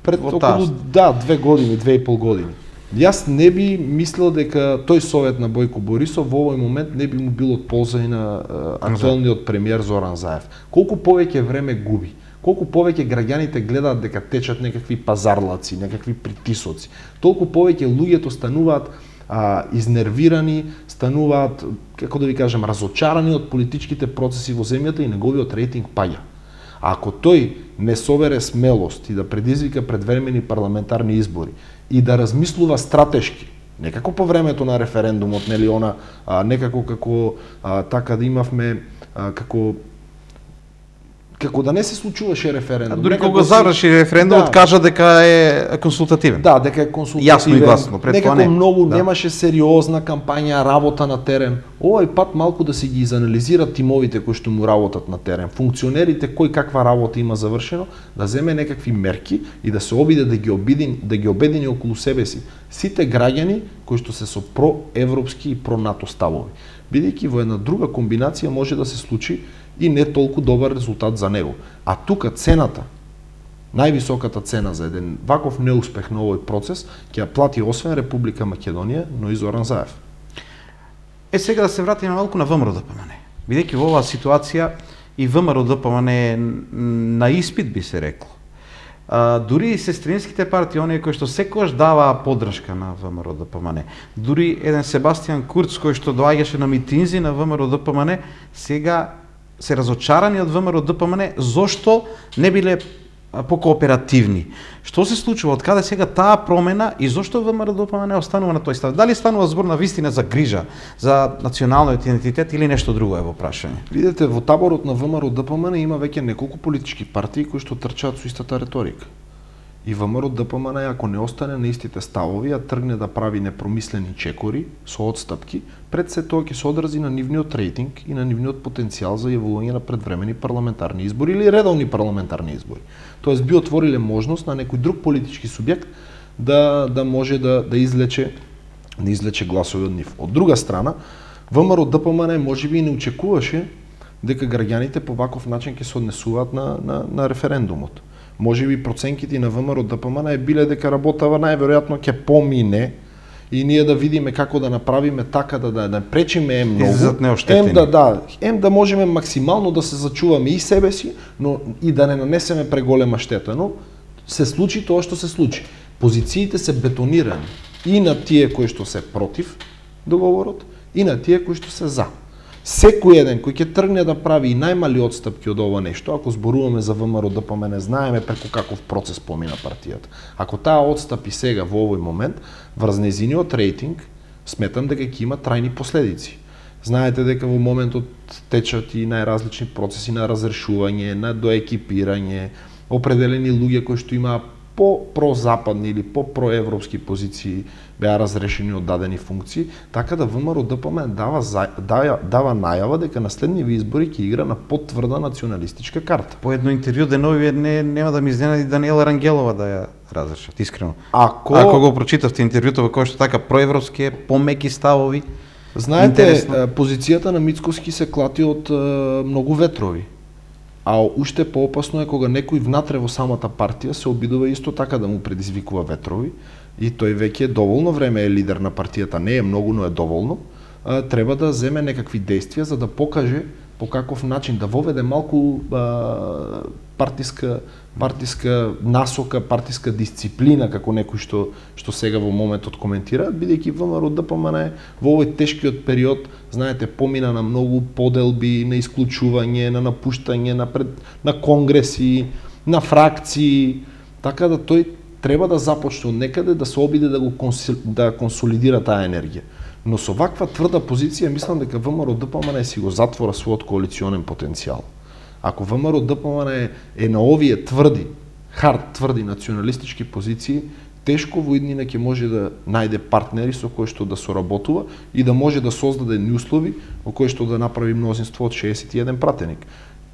[SPEAKER 2] пред околу да, две години, две и пол години. Јас не би мислел дека тој совет на Бојко Борисов во овој момент не би му бил од полза и на актуелниот премиер Зоран Заев. Колку повеќе време губи, колку повеќе граѓаните гледаат дека течат некакви пазарлаци, некакви притисоци, толку повеќе луѓето стануваат а, изнервирани, стануваат, како да ви кажам, разочарани од политичките процеси во земјата и неговиот рейтинг паѓа. А ако тој не собере смелост и да предизвика предвремени парламентарни избори и да размислува стратешки, некако по времето на референдумот, нели она, а, некако како а, така да имавме а, како како да не се случуваше референдум.
[SPEAKER 1] А дури кога заврши референдумот, да, кажа дека е консултативен.
[SPEAKER 2] Да, дека е консултативен.
[SPEAKER 1] Јасно и гласно, пред
[SPEAKER 2] некако
[SPEAKER 1] тоа не.
[SPEAKER 2] многу
[SPEAKER 1] да.
[SPEAKER 2] Немаше сериозна кампања, работа на терен. Овој пат малку да се ги изанализират тимовите кои што му работат на терен, функционерите кој каква работа има завршено, да земе некакви мерки и да се обиде да ги обидини, да ги обедини околу себе си сите граѓани кои што се со проевропски и про-НАТО ставови. Бидејќи во една друга комбинација може да се случи и не толку добар резултат за него. А тука цената, највисоката цена за еден ваков неуспех на овој процес, ќе ја плати освен Република Македонија, но и Зоран Заев.
[SPEAKER 1] Е, сега да се вратиме малку на ВМРО-ДПМН. Бидејќи во оваа ситуација и ВМРО-ДПМН е на испит, би се рекло. А, дури и сестринските партии, оние кои што секогаш даваа поддршка на ВМРО-ДПМН, дури еден Себастијан Курц кој што доаѓаше на митинзи на ВМРО-ДПМН, сега се разочарани од ВМРО-ДПМН, зошто не биле покооперативни. Што се случува, од каде сега таа промена и зошто ВМРО-ДПМН останува на тој став? Дали станува збор на вистина за грижа, за националниот идентитет или нешто друго е во прашање?
[SPEAKER 2] Видете, во таборот на ВМРО-ДПМН има веќе неколку политички партии кои што трчаат со истата реторика. И ВМРО ДПМН, ако не остане на истите ставови, а тргне да прави непромислени чекори со одстапки, пред се тоа ќе се одрази на нивниот рейтинг и на нивниот потенцијал за јавување на предвремени парламентарни избори или редовни парламентарни избори. Тоест би отвориле можност на некој друг политички субјект да да може да да излече да излече гласови од нив. Од друга страна, ВМРО ДПМН можеби и не очекуваше дека граѓаните по ваков начин ќе се однесуваат на на на референдумот. Можеби проценките на ВМРО ДПМН е биле дека работава најверојатно ќе помине и ние да видиме како да направиме така да да, да пречиме ем многу, ем да да, ем да можеме максимално да се зачуваме и себе си, но и да не нанесеме преголема штета, но се случи тоа што се случи. Позициите се бетонирани и на тие кои што се против договорот и на тие кои што се за. Секој еден кој ќе тргне да прави и најмали отстапки од ова нешто, ако зборуваме за ВМРО ДПМН, знаеме преку каков процес помина партијата. Ако таа отстапи сега во овој момент, врз нејзиниот рейтинг, сметам дека ќе има трајни последици. Знаете дека во моментот течат и најразлични процеси на разрешување, на доекипирање, определени луѓе кои што имаа по-прозападни или по-проевропски позиции беа разрешени од дадени функции, така да ВМРО ДПМН дава, дава, дава најава дека на следниви избори ќе игра на потврда националистичка карта.
[SPEAKER 1] По едно интервју денови не, нема да ми изненади Даниела Рангелова да ја разрешат, искрено.
[SPEAKER 2] Ако,
[SPEAKER 1] Ако го прочитавте интервјуто во кој што така проевропски е, помеки ставови,
[SPEAKER 2] знаете,
[SPEAKER 1] интересно.
[SPEAKER 2] Позицијата на Мицкоски се клати од е, многу ветрови. А уште поопасно е кога некој внатре во самата партија се обидува исто така да му предизвикува ветрови и тој веќе е доволно време е лидер на партијата, не е многу, но е доволно, а, треба да земе некакви действија за да покаже по каков начин да воведе малку а, партиска партиска насока, партиска дисциплина како некој што што сега во моментот коментира, бидејќи ВМРО ДПМН во овој тешкиот период, знаете, помина на многу поделби, на исклучување, на напуштање, на пред, на конгреси, на фракции, така да тој треба да започне од некаде да се обиде да го консол, да консолидира таа енергија. Но со ваква тврда позиција мислам дека ВМРО ДПМН си го затвора својот коалиционен потенцијал. Ако ВМРО ДПМН е, е на овие тврди, хард тврди националистички позиции, тешко во иднина ќе може да најде партнери со кои што да соработува и да може да создаде услови во кои што да направи мнозинство од шеесет и еден пратеник.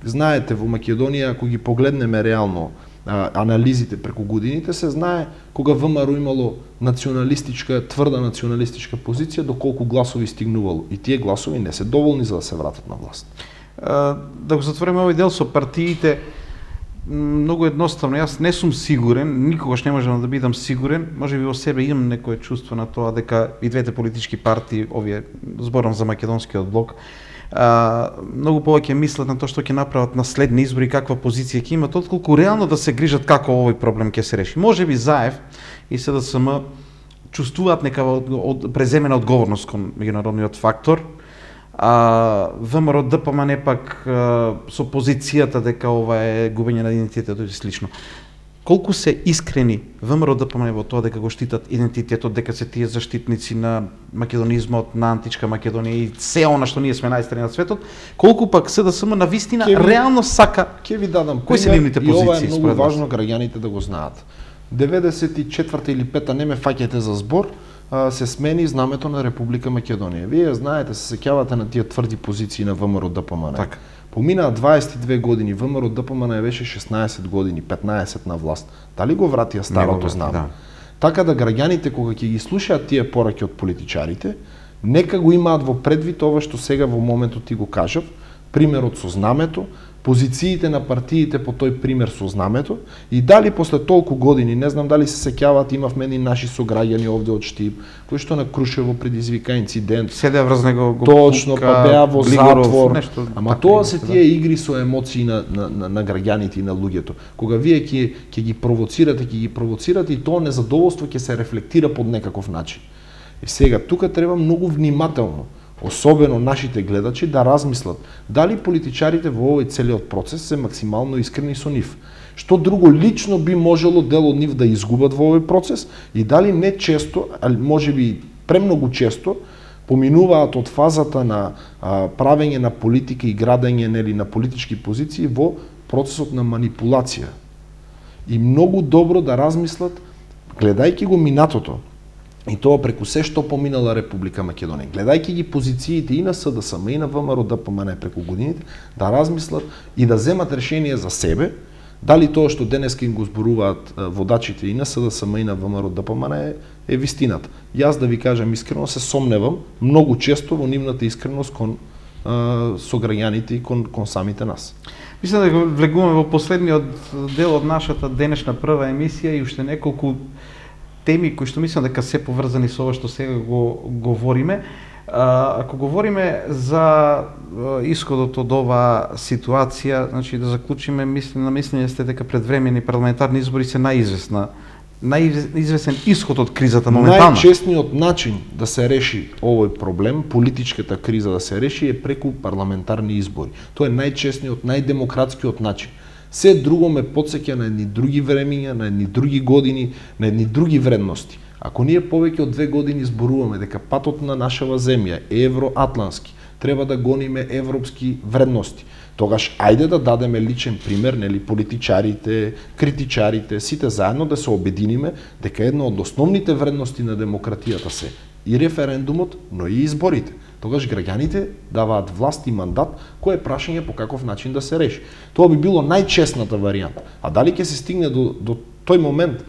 [SPEAKER 2] Знаете, во Македонија, ако ги погледнеме реално а, анализите преку годините, се знае кога ВМРО имало националистичка, тврда националистичка позиција, доколку гласови стигнувало. И тие гласови не се доволни за да се вратат на власт.
[SPEAKER 1] А, да го затвориме овој дел со партиите, многу едноставно, јас не сум сигурен, никогаш не можам да бидам сигурен, може би во себе имам некое чувство на тоа дека и двете политички партии, овие, зборам за македонскиот блок, а, многу повеќе мислат на тоа што ќе направат на следни избори, каква позиција ќе имат, отколку реално да се грижат како овој проблем ќе се реши. Може би ЗАЕВ и СДСМ чувствуваат некава од, од, преземена одговорност кон меѓународниот фактор, а ВМРО ДПМН пак а, со позицијата дека ова е губење на идентитетот и слично. Колку се искрени ВМРО ДПМН во тоа дека го штитат идентитетот, дека се тие заштитници на македонизмот, на античка Македонија и се она што ние сме најстари на светот, колку пак СДСМ на вистина ви, реално сака.
[SPEAKER 2] Ќе ви дадам
[SPEAKER 1] кои се нивните позиции?
[SPEAKER 2] И ова е многу важно граѓаните да го знаат. деветдесет и четврта или пета, не ме фаќајте за збор, се смени знамето на Република Македонија. Вие знаете, се сеќавате на тие тврди позиции на ВМРО ДПМН.
[SPEAKER 1] Так.
[SPEAKER 2] Поминаа дваесет и две години, ВМРО ДПМН беше шеснаесет години, петнаесет на власт. Дали го вратија старото знаме? Да. Така да граѓаните кога ќе ги слушаат тие пораки од политичарите, нека го имаат во предвид ова што сега во моментот ти го кажав, примерот со знамето, позициите на партиите по тој пример со знамето и дали после толку години, не знам дали се сеќаваат, имавме ни наши сограѓани овде од Штип, кои што на Крушево предизвика инцидент.
[SPEAKER 1] Седеа врз него го
[SPEAKER 2] точно, па беа во
[SPEAKER 1] Глигоров,
[SPEAKER 2] затвор.
[SPEAKER 1] Нешто,
[SPEAKER 2] ама тоа се тие игри со емоции на, на, на, на граѓаните и на луѓето. Кога вие ќе ќе ги провоцирате, ќе ги провоцирате и тоа незадоволство ќе се рефлектира под некаков начин. И сега тука треба многу внимателно, особено нашите гледачи, да размислат дали политичарите во овој целиот процес се максимално искрени со нив. Што друго лично би можело дел од нив да изгубат во овој процес и дали не често, али можеби премногу често, поминуваат од фазата на а, правење на политика и градење нели на политички позиции во процесот на манипулација. и многу добро да размислат, гледајќи го минатото, и тоа преку се што поминала Република Македонија, гледајќи ги позициите и на СДСМ и на ВМРО Д П М Н преку годините, да размислат и да земат решение за себе, дали тоа што денеска им го зборуваат водачите и на СДСМ и на ВМРО Д П М Н е, е вистината. Јас да ви кажам искрено се сомневам многу често во нивната искреност кон а, со граѓаните и кон, кон самите нас.
[SPEAKER 1] Мислам да го влегуваме во последниот дел од нашата денешна прва емисија и уште неколку теми кои што мислам дека се поврзани со ова што сега го говориме. А, ако говориме за исходот од оваа ситуација, значи да заклучиме, мислим на мислење сте дека предвремени парламентарни избори се најизвестна најизвестен исход од кризата моментално.
[SPEAKER 2] Најчесниот начин да се реши овој проблем, политичката криза да се реши е преку парламентарни избори. Тоа е најчесниот, најдемократскиот начин. Се друго ме потсеќа на едни други времиња, на едни други години, на едни други вредности. Ако ние повеќе од две години зборуваме дека патот на нашава земја е евроатлански, треба да гониме европски вредности, тогаш ајде да дадеме личен пример, нели, политичарите, критичарите, сите заедно да се обединиме дека една од основните вредности на демократијата се и референдумот, но и изборите. Тогаш граѓаните даваат власт и мандат, кој е прашање по каков начин да се реши. Тоа би било најчесната варијанта. А дали ќе се стигне до, до тој момент,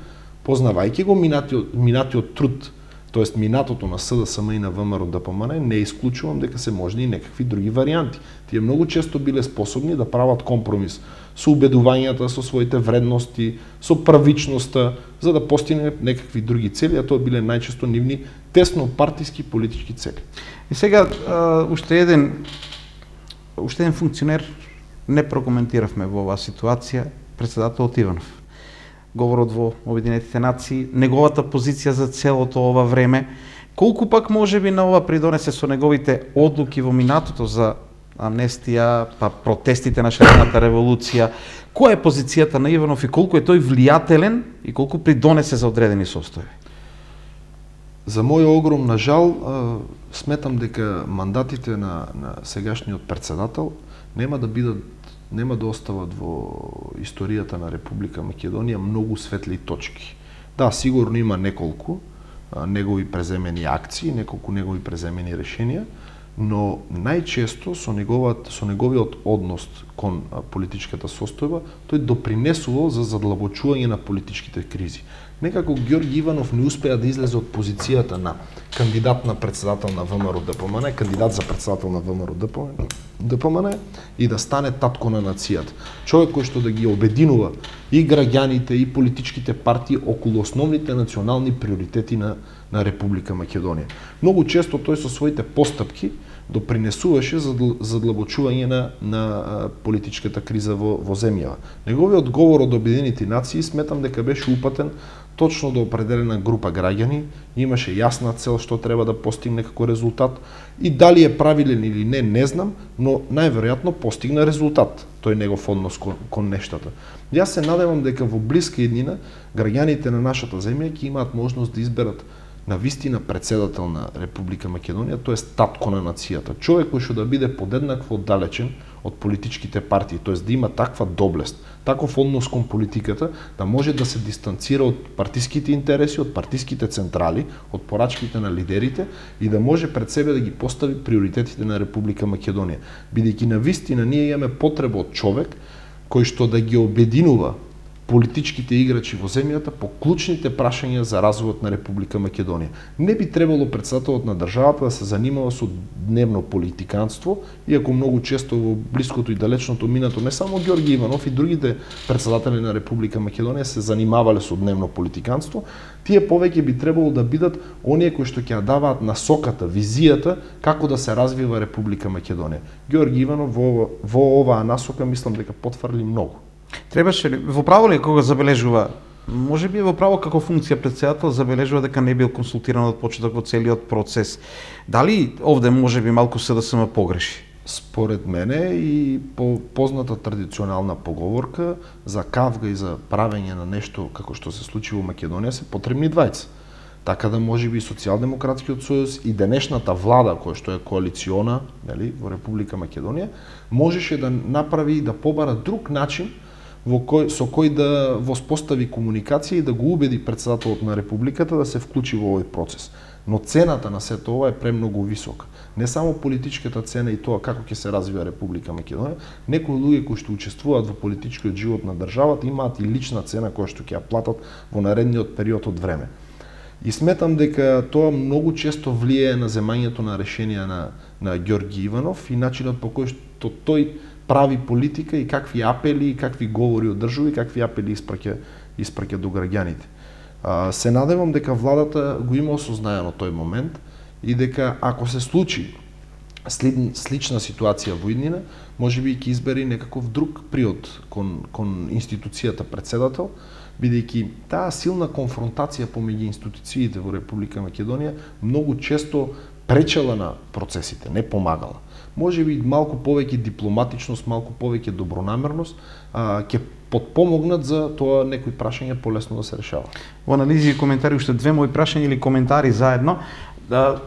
[SPEAKER 2] познавајќи го минатиот, минатиот труд, тоест минатото на СДСМ и на ВМРО Д П М Н, не исклучувам дека се можни и некакви други варијанти. Тие многу често биле способни да прават компромис со убедувањата, со своите вредности, со правичноста, за да постигнат некакви други цели, а тоа биле најчесто нивни тесно партиски политички цели.
[SPEAKER 1] И сега а, уште еден уште еден функционер не прокоментиравме во оваа ситуација, председателот Иванов. Говорот во Обединетите нации, неговата позиција за целото ова време, колку пак можеби на ова придонесе со неговите одлуки во минатото за амнестија, па протестите на шарената револуција, која е позицијата на Иванов и колку е тој влијателен и колку придонесе за одредени состојби?
[SPEAKER 2] За мој огромна жал, сметам дека мандатите на, на сегашниот председател нема да бидат нема да остават во историјата на Република Македонија многу светли точки. Да, сигурно има неколку а, негови преземени акции, неколку негови преземени решенија, но најчесто со неговиот со неговиот однос кон а, политичката состојба, тој допринесувал за задлабочување на политичките кризи. Некако Ѓорѓи Иванов не успеа да излезе од позицијата на кандидат на председател на ВМРО Д П М Н, кандидат за председател на ВМРО Д П М Н и да стане татко на нацијата. Човек кој што да ги обединува и граѓаните и политичките партии околу основните национални приоритети на на Република Македонија. Многу често тој со своите постапки допринесуваше за задлабочување на на политичката криза во во земјава. Неговиот говор од Обединените нации сметам дека беше упатен точно до определена група граѓани, имаше јасна цел што треба да постигне како резултат и дали е правилен или не, не знам, но најверојатно постигна резултат тој негов однос кон, кон нештата. Јас се надевам дека во блиска иднина граѓаните на нашата земја ќе имаат можност да изберат на вистина председател на Република Македонија, тоест татко на нацијата, човек кој што да биде подеднакво оддалечен од политичките партии, тоест да има таква доблест, таков однос кон политиката, да може да се дистанцира од партиските интереси, од партиските централи, од порачките на лидерите и да може пред себе да ги постави приоритетите на Република Македонија. Бидејќи на вистина ние имаме потреба од човек кој што да ги обединува политичките играчи во земјата по клучните прашања за развојот на Република Македонија. Не би требало председателот на државата да се занимава со дневно политиканство, иако многу често во блиското и далечното минато не само Ѓорѓи Иванов и другите председатели на Република Македонија се занимавале со дневно политиканство, тие повеќе би требало да бидат оние кои што ќе даваат насоката, визијата како да се развива Република Македонија. Ѓорѓи Иванов во, во оваа насока мислам дека потфрли многу.
[SPEAKER 1] Требаше ли, во право ли кога забележува, може би во право како функција председател забележува дека не бил консултиран од почеток во целиот процес. Дали овде може би малку СДСМ погреши?
[SPEAKER 2] Според мене и по позната традиционална поговорка за кавга и за правење на нешто како што се случи во Македонија се потребни двајца. Така да може би Социјалдемократскиот сојуз и денешната влада која што е коалициона, нели, во Република Македонија, можеше да направи и да побара друг начин во кој со кој да воспостави комуникација и да го убеди претседателот на републиката да се вклучи во овој процес. Но цената на сето ова е премногу висока. Не само политичката цена и тоа како ќе се развива Република Македонија, некои луѓе кои што учествуваат во политичкиот живот на државата имаат и лична цена која што ќе ја платат во наредниот период од време. И сметам дека тоа многу често влијае на земањето на решенија на на Ѓорги Иванов и начинот по кој што тој прави политика и какви апели и какви говори одржува и какви апели испраќа испраќа до граѓаните. А, се надевам дека владата го има осознаено тој момент и дека ако се случи слична ситуација во иднина, можеби ќе избери некаков друг приод кон кон институцијата претседател, бидејќи таа силна конфронтација помеѓу институциите во Република Македонија многу често пречела на процесите, не помагала. Можеби малку повеќе дипломатичност, малку повеќе добронамерност а, ќе подпомогнат за тоа некои прашања полесно да се решават.
[SPEAKER 1] Во анализи и коментари уште две мои прашања или коментари заедно. Да,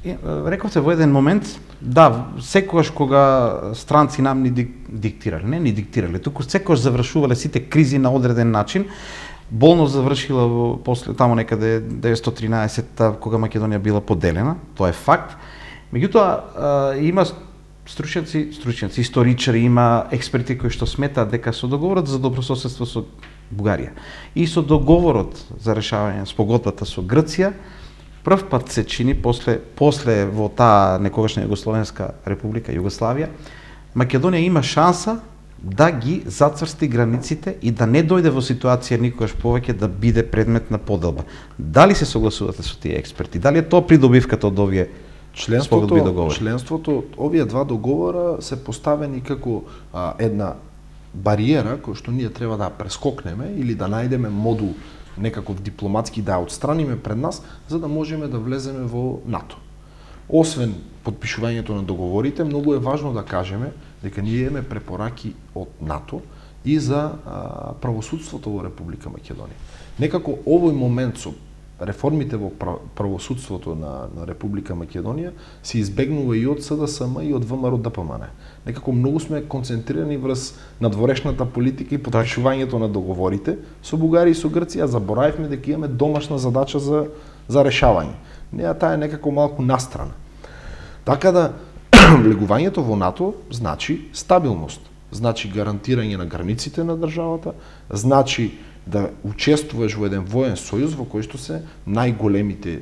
[SPEAKER 1] рековте во еден момент, да, секогаш кога странци нам ни диктирале, не ни диктирале, туку секогаш завршувале сите кризи на одреден начин. Болно завршила во после тамо некаде деветстотини и тринаесетта кога Македонија била поделена, тоа е факт. Меѓутоа има стручњаци, стручњаци, историчари, има експерти кои што сметаат дека со договорот за добрососедство со Бугарија и со договорот за решавање спогодбата со Грција, прв пат се чини после после во таа некогашна Југословенска република Југославија, Македонија има шанса да ги зацрсти границите и да не дојде во ситуација никогаш повеќе да биде предмет на поделба. Дали се согласувате со тие експерти? Дали е тоа придобивката од овие спогодби и договори?
[SPEAKER 2] Членството, овие два договора се поставени како а, една бариера која што ние треба да прескокнеме или да најдеме модул некаков дипломатски да ја отстраниме пред нас, за да можеме да влеземе во НАТО. Освен подпишувањето на договорите, многу е важно да кажеме дека ние имаме препораки од НАТО и за а, правосудството во Република Македонија. Некако овој момент со реформите во правосудството на, на Република Македонија се избегнува и од СДСМ и од ВМРО ДПМН. Некако многу сме концентрирани врз надворешната политика и подпишувањето на договорите со Бугарија и со Грција, заборавивме дека имаме домашна задача за за решавање. Неа таа е некако малку настрана. Така да влегувањето во НАТО значи стабилност, значи гарантирање на границите на државата, значи да учествуваш во еден воен сојуз во кој што се најголемите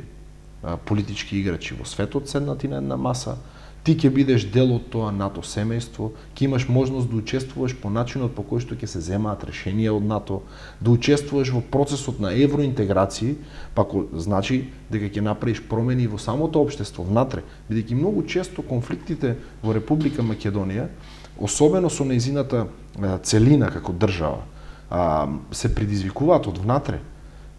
[SPEAKER 2] а, политички играчи во светот седнати на една маса. Ти ќе бидеш дел од тоа НАТО семејство, ќе имаш можност да учествуваш по начинот по кој што ќе се земаат решенија од НАТО, да учествуваш во процесот на евроинтеграција, па значи дека ќе направиш промени во самото општество внатре, бидејќи многу често конфликтите во Република Македонија, особено со нејзината целина како држава, се предизвикуваат од внатре.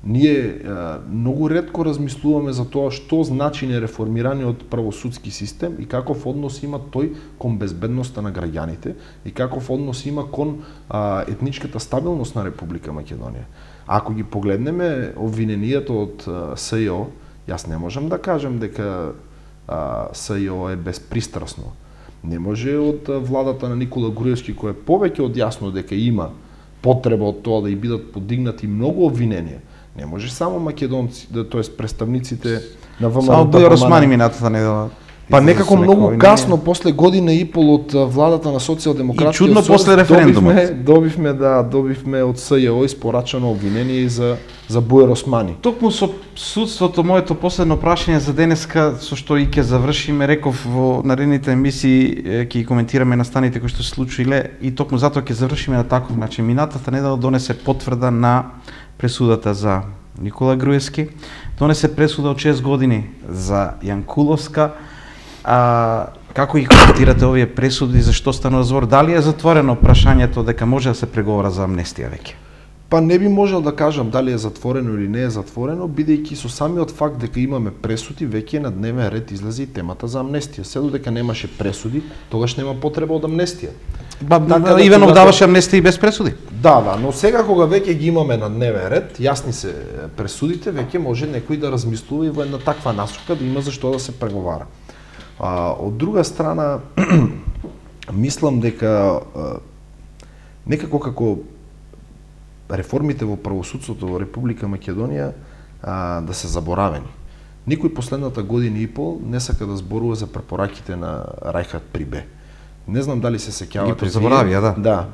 [SPEAKER 2] Ние а, многу ретко размислуваме за тоа што значи нереформираниот правосудски систем и каков однос има тој кон безбедноста на граѓаните и каков однос има кон а, етничката стабилност на Република Македонија. Ако ги погледнеме обвиненијата од а, СЈО, јас не можам да кажам дека а, СЈО е безпристрасно. Не може од а, владата на Никола Груевски, кој е повеќе од јасно дека има потреба од тоа да и бидат подигнати многу обвиненија. Не може само македонци, да, тоест представниците на ВМРО.
[SPEAKER 1] Само Бујар Османи минатата недела.
[SPEAKER 2] Па некако многу касно, после година и пол од владата на социјалдемократија.
[SPEAKER 1] И чудно после референдумот.
[SPEAKER 2] Добивме, добивме, да, добивме од СЈО испорачано обвинение за за Бујар Османи.
[SPEAKER 1] Токму со судството, моето последно прашање за денеска, со што и ќе завршиме, реков во наредните емисии ќе ги коментираме настаните кои што се случиле и токму затоа ќе завршиме на таков начин. Минатата недела донесе потврда на пресудата за Никола Груевски, донесе пресуда од шест години за Јанкуловска. А, како ги коментирате овие пресуди, зашто станува збор? Дали е затворено прашањето дека може да се преговара за амнестија веќе?
[SPEAKER 2] Па не би можел да кажам дали е затворено или не е затворено, бидејќи со самиот факт дека имаме пресуди, веќе на дневен ред излезе и темата за амнестија. Се додека немаше пресуди, тогаш нема потреба од амнестија.
[SPEAKER 1] Ба, така, да, Иванов когато... даваше амнестија и без пресуди.
[SPEAKER 2] Да, да, но сега кога веќе ги имаме на дневен ред, јасни се пресудите, веќе може некој да размислува и во една таква насока да има зашто да се преговара. А, од друга страна, мислам дека а, некако како реформите во правосудството во Република Македонија а, да се заборавени. Никој последната година и пол не сака да зборува за препораките на Рајхат Прибе. Не знам дали се сеќавате.
[SPEAKER 1] Ги заборавија, да.
[SPEAKER 2] Да.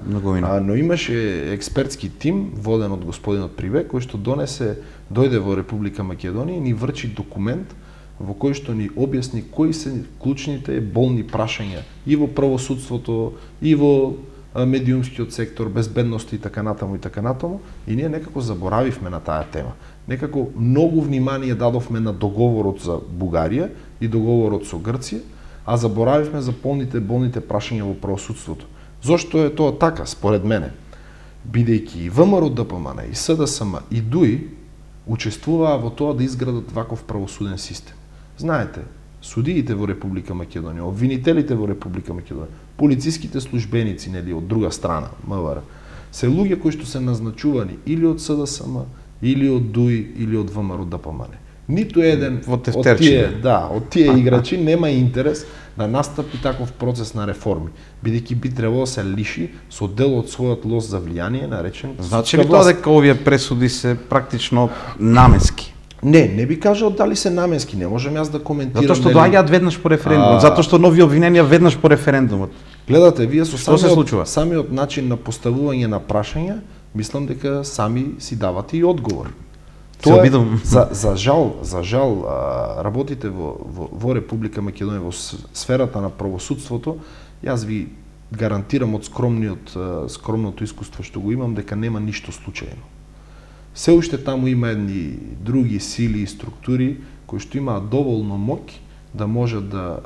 [SPEAKER 1] А,
[SPEAKER 2] но имаше експертски тим воден од господинот Прибе кој што донесе, дојде во Република Македонија и ни врчи документ во кој што ни објасни кои се клучните болни прашања и во правосудството, и во медиумскиот сектор, безбедност и така натаму и така натаму, и ние некако заборавивме на таа тема. Некако многу внимание дадовме на договорот за Бугарија и договорот со Грција, а заборавивме за полните болните прашања во правосудството. Зошто е тоа така, според мене? Бидејќи и ВМРО Д П М Н, и С Д С М, и Д У И учествуваа во тоа да изградат ваков правосуден систем. Знаете, судиите во Република Македонија, обвинителите во Република Македонија, полициските службеници, нели, од друга страна, М В Р, се луѓе кои што се назначувани или од С Д С М, или од Д У И, или од ВМРО Д П М Н. Ниту еден од тие, да, од тие играчи нема интерес да настапи таков процес на реформи, бидејќи би требало да се лиши со дел од својот лост за влијание, наречен
[SPEAKER 1] Значи ли тоа дека овие пресуди се практично наменски?
[SPEAKER 2] Не, не би кажал дали се наменски, не можам јас да коментирам.
[SPEAKER 1] Затоа што доаѓаат веднаш по референдумот, затоа што нови обвиненија веднаш по референдумот.
[SPEAKER 2] Гледате, вие со
[SPEAKER 1] самиот,
[SPEAKER 2] самиот начин на поставување на прашања, мислам дека сами си давате и одговор.
[SPEAKER 1] Тоа е,
[SPEAKER 2] за, за жал, за жал работите во, во, во Република Македонија во сферата на правосудството, јас ви гарантирам од скромниот скромното искуство што го имам дека нема ништо случајно. Се уште таму има едни други сили и структури кои што имаат доволно моќ да можат да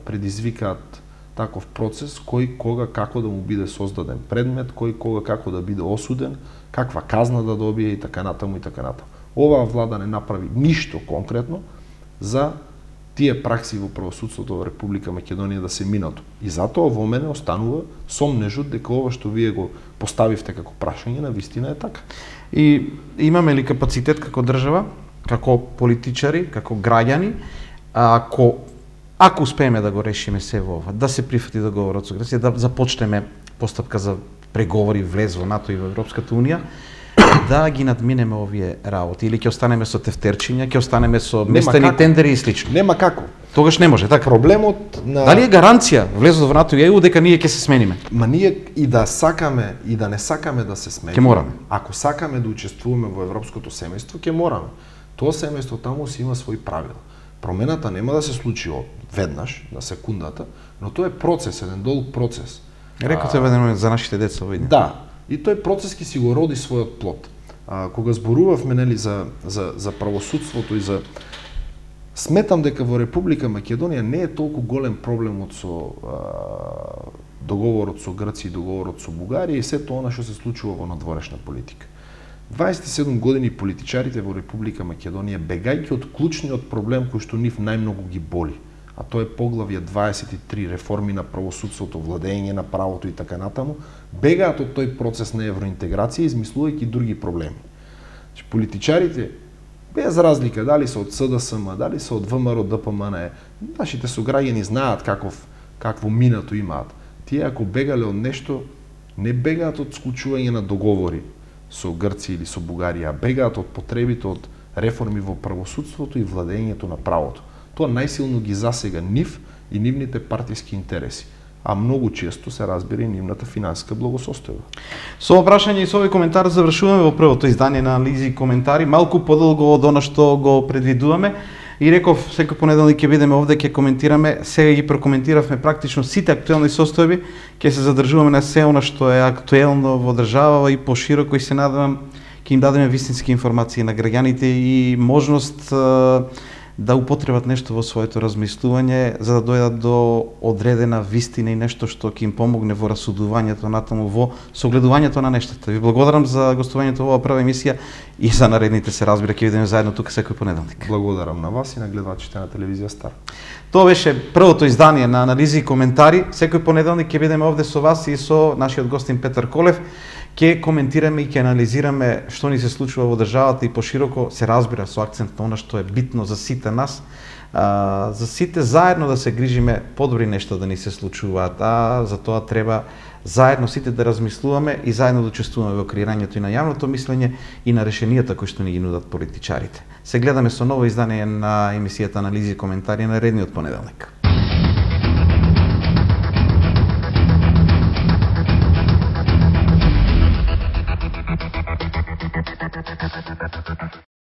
[SPEAKER 2] предизвикаат таков процес, кој кога како да му биде создаден предмет, кој кога како да биде осуден, каква казна да добие и така натаму и така натаму. Оваа влада не направи ништо конкретно за тие пракси во правосудството во Република Македонија да се минато. И затоа во мене останува сомнежот дека ова што вие го поставивте како прашање на вистина е така.
[SPEAKER 1] И имаме ли капацитет како држава, како политичари, како граѓани, ако ако успееме да го решиме се во ова, да се прифати договорот со Грција, да започнеме постапка за преговори, влез во НАТО и во Европската унија, да ги надминеме овие работи, или ќе останеме со тефтерчиња, ќе останеме со местени тендери и слично.
[SPEAKER 2] Нема како.
[SPEAKER 1] Тогаш не може, така.
[SPEAKER 2] Проблемот на
[SPEAKER 1] Дали е гаранција влезот во НАТО и Е У дека ние ќе се смениме?
[SPEAKER 2] Ма ние и да сакаме и да не сакаме да се смениме.
[SPEAKER 1] Ќе мораме.
[SPEAKER 2] Ако сакаме да учествуваме во европското семејство, ќе мораме. Тоа семејство таму си има своји правила. Промената нема да се случи од веднаш, на секундата, но тоа е процес, еден долг процес.
[SPEAKER 1] Рекоте веднаш за нашите деца види.
[SPEAKER 2] Да. И тој процес ќе си го роди својот плод. А, кога зборувавме нели за за за правосудството и за сметам дека во Република Македонија не е толку голем проблемот со а, договорот со Грција и договорот со Бугарија и сето она што се случува во надворешна политика. дваесет и седум години политичарите во Република Македонија, бегајќи од клучниот проблем кој што нив најмногу ги боли, а тоа е поглавје дваесет и три, реформи на правосудството, владење на правото и така натаму, бегаат од тој процес на евроинтеграција, измислувајќи други проблеми. Значи, политичарите, без разлика дали се од С Д С М, дали се од В М Р Д П М Н, нашите сограѓани знаат каков какво минато имаат. Тие ако бегале од нешто, не бегаат од склучување на договори со Грција или со Бугарија, а бегаат од потребите од реформи во правосудството и владењето на правото. Тоа најсилно ги засега нив и нивните партиски интереси, а многу често се разбира и нивната финансиска благосостојба.
[SPEAKER 1] Со ова прашање и со овој коментар завршуваме во првото издание на анализи и коментари, малку подолго од она што го предвидуваме. И реков, секој понеделник ќе бидеме овде, ќе коментираме, сега ги прокоментиравме практично сите актуелни состојби, ќе се задржуваме на се она што е актуелно во држава и пошироко и се надевам ќе им дадеме вистински информации на граѓаните и можност да употребат нешто во своето размислување за да дојдат до одредена вистина и нешто што ќе им помогне во расудувањето натаму, во согледувањето на нештата. Ви благодарам за гостувањето во оваа прва емисија и за наредните се разбира ќе видиме заедно тука секој понеделник.
[SPEAKER 2] Благодарам на вас и на гледачите на телевизија Стар.
[SPEAKER 1] Тоа беше првото издание на анализи и коментари. Секој понеделник ќе бидеме овде со вас и со нашиот гостин Петар Колев. Ќе коментираме и ќе анализираме што ни се случува во државата и пошироко се разбира со акцент на она што е битно за сите нас, а, за сите заедно да се грижиме подобри нешта да ни се случуваат, а за тоа треба заедно сите да размислуваме и заедно да учествуваме во креирањето и на јавното мислење и на решенијата кои што ни ги нудат политичарите. Се гледаме со ново издание на емисијата Анализи и коментари на редниот понеделник.